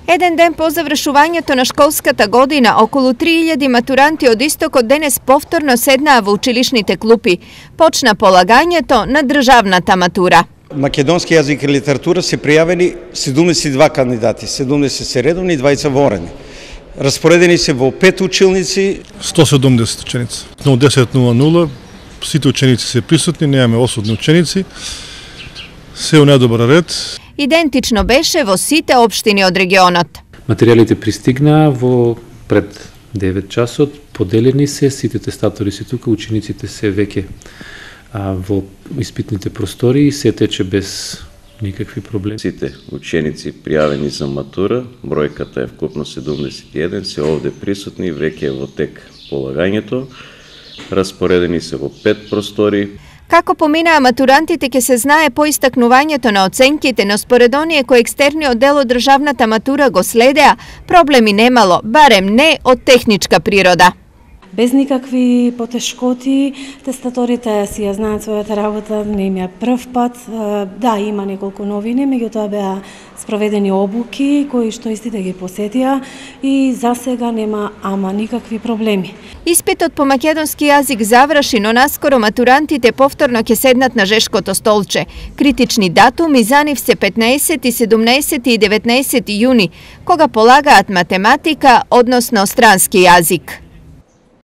Еден ден по завршувањето на школската година, околу 3000 матуранти од истокот денес повторно седнаа во училишните клупи. Почна полагањето на државната матура. Македонски јазик и литература се пријавени 72 кандидати, 70 се редовни, 20 ворени. Распоредени се во 5 училници. 170 ученици. Но 10:00 сите ученици се присутни, немаме осудни ученици. Се у недобар ред. Идентично беше во сите општини од регионот. Материјалите пристигнаа во пред 9 часот, поделени се, сите тестатори се тука, учениците се веќе во испитните простори и се тече без никакви проблеми. Сите ученици пријавени за матура, бројката е вкупно 71, се овде присутни, веќе е во тек полагањето, распоредени се во 5 простори. Како поминаа матурантите ќе се знае по истакнувањето на оценките, но според оние кои екстерниот дел од државната матура го следеа, проблеми немало, барем не од техничка природа. Без никакви потешкоти, тестаторите си ја знаат својата работа, не им е прв пат. Да, има неколку новини, меѓутоа беа спроведени обуки кои што истите ги посетија и за сега нема ама никакви проблеми. Испитот по македонски јазик заврши, но наскоро матурантите повторно ќе седнат на жешкото столче. Критични датуми за нив се 15, 17 и 19 јуни, кога полагаат математика, односно странски јазик.